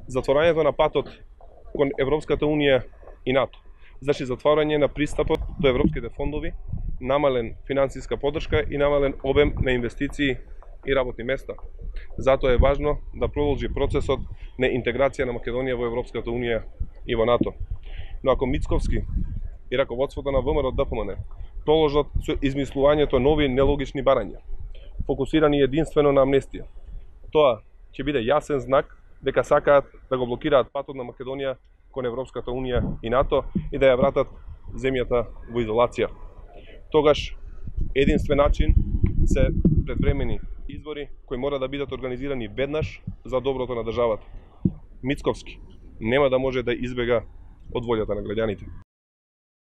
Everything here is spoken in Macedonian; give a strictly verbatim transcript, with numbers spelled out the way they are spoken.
затворањето на патот кон Европската унија и НАТО. Значи затворање на пристапот до европските фондови, намален финансиска поддршка и намален обем на инвестиции и работни места. Затоа е важно да продолжи процесот на интеграција на Македонија во Европската унија и во НАТО. Но ако Мицковски и раководството на ВМРО Д П М Н продолжат со измислувањето нови нелогични барања, фокусирани единствено на амнестија, тоа ќе биде јасен знак дека сакаат да го блокираат патот на Македонија кон Европската унија и НАТО и да ја вратат земјата во изолација. Тогаш единствен начин се предвремени избори кои мора да бидат организирани веднаш за доброто на државата. Мицковски нема да може да избега од волјата на граѓаните.